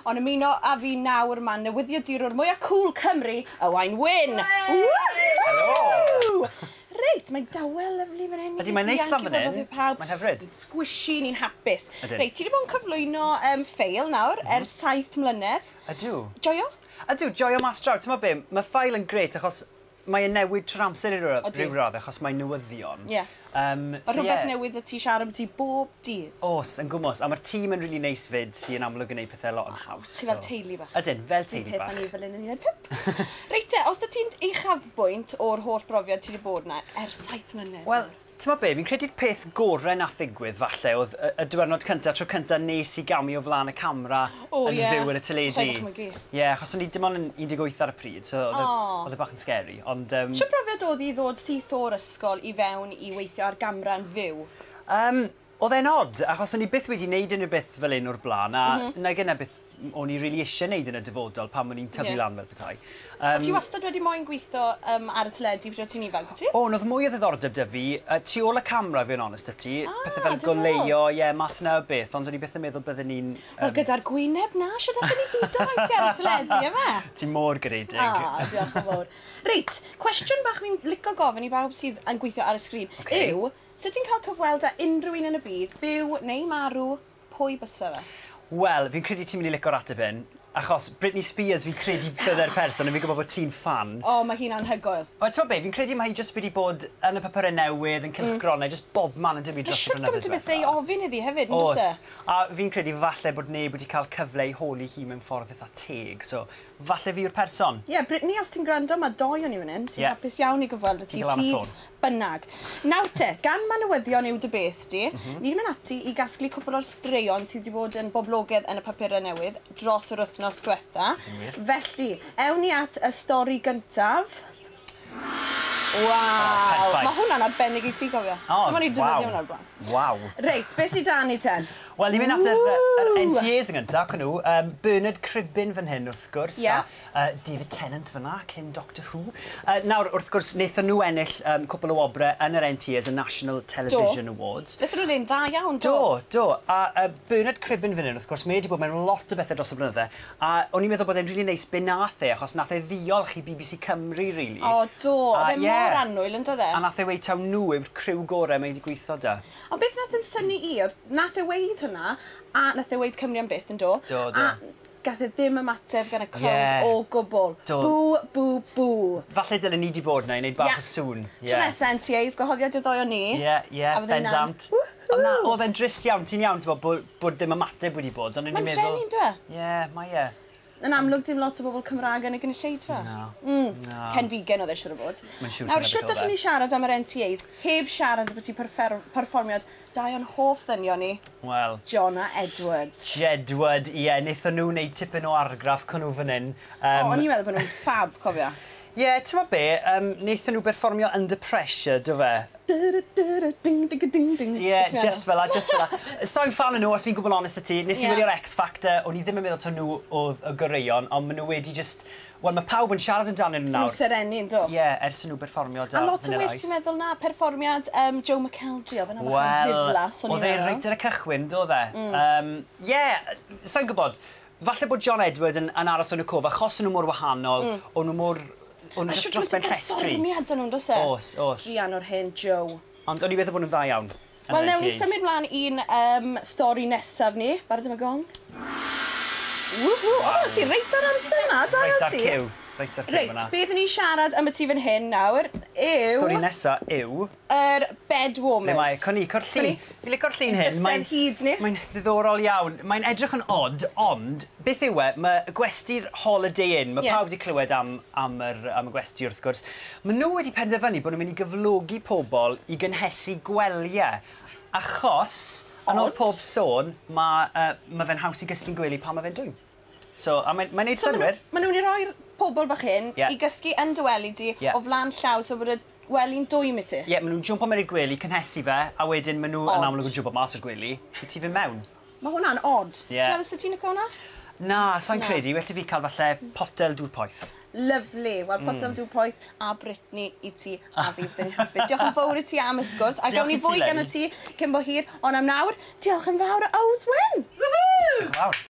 Ond ymuno â fi nawr mae newyddiadurwr mwyaf cool Cymru, Owain Wyn. Helo! Reit, mae'n dawel lyfli fan hyn. Ydy, mae'n neis lan fan hyn. Mae'n hyfryd. Squishy, ni'n hapus. Ydyn. Reit, ti wedi bod yn cyflwyno Ffeil nawr ers 7 mlynedd. Ydw. Joio? Ydw, joio mas draw. Ti'n be, mae Ffeil yn grêt achos mae'n newid trwy'r amser i ryw radd achos mae'n newyddion. So rhywbeth newydd y ti siarad am ti bob dydd. Os, yn gwmws. A mae'r tîm yn really neis fyd sy'n amlwg yn gwneud pethau lot yn haws. Chi fel teulu bach. Ydyn, fel teulu bach. Peth ni fel un yn 15. Reit te, os dy ti'n uchafbwynt o'r holl brofiad ti wedi bod yna ers 7 mlynedd? Wel, ti'n be, fi'n credu'r peth gorau nath ddigwydd falle oedd y diwrnod cyntaf, tro cyntaf nes i gamu o flaen y camera yn fyw yn y teledu. Ie, yeah, achos o'n i dim ond yn 18 ar y pryd, so oedd e bach yn scary. Ond, Shwt brofiad oedd i ddod syth o'r ysgol i fewn i weithio ar gamera yn fyw? Oedd e'n odd, achos o'n i byth wedi wneud unrhyw beth fel un o'r blaen, a na gyna beth o'n i really eisiau wneud yn y dyfodol pan o'n i'n tyfu lan fel petai. O ti wastad wedi moyn gweithio ar y teledu pryd o ti'n ifanc, o ti? O, oedd mwy o ddiddordeb 'da fi. Tu ôl y camera, fi'n onest â ti. Ah, pethau fel goleuo, ie, yeah, math na o beth, ond o'n i byth yn meddwl bydden ni'n... Wel, gyda'r gwyneb na, siwr allan ni byd o ti ar y teledu, yma? Ti'n mor garedig. Ah, diolch yn fawr. Reit, cwestiwn bach fi'n licio gofyn i bawb sydd yn gweithio ar y sgrin yw, sut ti'n cael cyfweld â unrhyw un yn y byd, byw neu marw, pwy bysa fe? Wel, fi'n credu ti'n mynd i licio'r ateb hyn, achos Britney Spears fi'n credu bydde'r person, a fi'n gwybod bod ti'n fan. O, oh, mae hi'n anhygoel. Wel, ti'n be, fi'n credu mae hi jyst wedi bod yn y papurau newydd, yn cylchgronau, just bob man yn dyfu dros y blynyddoedd. Siwt gymaint o bethau i ofyn iddi hefyd, yn Oes. A fi'n credu falle bod neb wedi cael cyfle i holi hi mewn ffordd eitha teg, so falle fi yw'r person. Ie, yeah, Britney, os ti'n gwrando, mae doi o'n i fan hyn, sy'n hapus iawn i gyfweld y ti pryd bynnag. Nawr te, gan ma newyddion yw dy beth di, ni'n mynd ati i gasglu cwpl o'r straeon sydd wedi bod yn boblogaidd yn y papurau newydd dros yr wythnos diwetha. Felly, ewn ni at y stori gyntaf. Waw! Oh, mae hwnna'n arbennig i ti, gofio. Oh, so ma'n i defnyddio hwnna'r blaen. Waw. Reit, beth sydd 'da ni ten? Wel, ni'n mynd at yr NTAs yn gyntaf, con nhw. Bernard Cribbin fan hyn, wrth gwrs, a David Tennant fyna, cyn Doctor Who. Nawr, wrth gwrs, wnaethon nhw ennill cwpl o wobrau yn yr NTAs, y National Television Awards. Wnaethon nhw'n dda iawn, do? Do, do. A Bernard Cribbin fan hyn, wrth gwrs, mae wedi bod mewn lot o bethau dros y blynydde. A o'n i'n meddwl bod e'n really neis be nath e, achos nath e ddiolch i BBC Cymru, really. O, do. Oedd e mor annwyl, yn do e? A nath e weud taw nhw yw'r criw gorau mae wedi gweithio da. Ond beth nath yn synnu i, oedd nath e weud hwnna, a nath e weud "Cymru am byth", yn do? Do. A gath e ddim ymateb gan y crowd o gwbl. Do. Bw, bw, bw. Falle dylen ni di bod na i wneud bach o sŵn. Yeah. Tro nesa NTAs, gwahoddiad i'r ddoi o ni. Ie, bendant. Ond na, oedd e'n drist iawn, ti'n iawn, ti'n bod ddim ymateb wedi bod, ond o'n i'n Mae'n meddwl. drueni, yndw e? Ie, mae e. Yn amlwg dim lot o bobl Cymraeg yn y gynulleidfa. Na. Na. Cenfigen oedd e siŵr o fod. Mae'n siŵr Nawr, dyna beth siwt oedd e. allwn ni siarad am yr NTAs heb siarad am y perfformiad dau o'n hoff ddynion ni, Wel, John a Edward. Jedward, ie, wnaethon nhw wneud tipyn o argraff con nhw fan hyn. O, o'n i'n meddwl bod nhw'n fab, cofio. Ie, ti'n meddwl be, wnaethon nhw berfformio Under Pressure, do fe? Ding, ding, ding, ding. Ie, yeah, just fel 'a, just fel 'a. So'n fan o nhw, os fi'n gwybod honest i ti. Nes i wylio'r X Factor, o'n i ddim yn meddwl taw nhw oedd y goreuon, ond maen nhw wedi just. Wel, mae pawb yn siarad amdanyn nhw Nhw nawr. serenu, yn do? Ie, yeah, ers nhw berfformio da A lot o Vanilla well Ice. ti'n meddwl na perfformiad Joe McElderry, oedd yna bach yn Wel, ddiflas, o'n i'n oedd e meddwl. reit ar y cychwyn, do e? Ie, sa'n gwybod, falle bod John Edward yn aros yn y cof, achos o'n nhw mor wahanol, o'n nhw mor. O'n nhw A just shwt dros gymaint ben o llestri. perfformiad o'n nhw'n, does e? Oes. Druan o'r hen Joe. Ond o'n i'n meddwl bod nhw'n dda iawn yn Wel, yr newn ni NTAs. symud mlaen i'n stori nesaf ni. Barod am y gong? Woohoo! O, ti reit ar amser na, da Reit iawn ar ti. cyw. Reit ar cyw Reit, fyna. beth ni siarad am y ti fan hyn nawr yw Stori nesa yw. Yr bed warmers. Le mae, con ni, co'r llun. Fi'n licio'r llun hyn. Bysedd hyd ni. Mae'n ddiddorol iawn. Mae'n edrych yn odd, ond beth yw e, mae gwesty'r Holiday Inn, mae pawb wedi clywed am y gwesty wrth gwrs. Maen nhw wedi penderfynu bod nhw'n mynd i gyflogi pobl i gynhesu gwelyau, achos, yn ôl Odd. pob sôn, mae fe'n haws i gysgu'n gwely pan mae fe'n dwym. So, a mae'n neud So ma' synnwyr. Ma' nhw'n i roi'r pobl bach hyn i gysgu yn dy wely di o flaen llaw so bod y wely'n dwym i ti. Ie, yeah, maen nhw'n jwmpo mewn i'r gwely, cynhesu fe, a wedyn maen nhw yn Odd. amlwg yn jwmpo mas o'r gwely, i ti fynd mewn. Mae hwnna'n odd. Ie. Ti'n meddwl sut ti'n licio hwnna? Na, sa'n Na. credu. Well i fi cael falle potel dŵr poeth. Lovely. Wel, potel dŵr poeth a Britney i ti a fi fydd yn hapus. Diolch yn fawr i ti am y sgwrs. A Diolch gawn ni i ti, fwy gan Lenny. ti cyn bo hir. Ond am nawr, diolch yn fawr, Ows Wyn! Diolch yn fawr.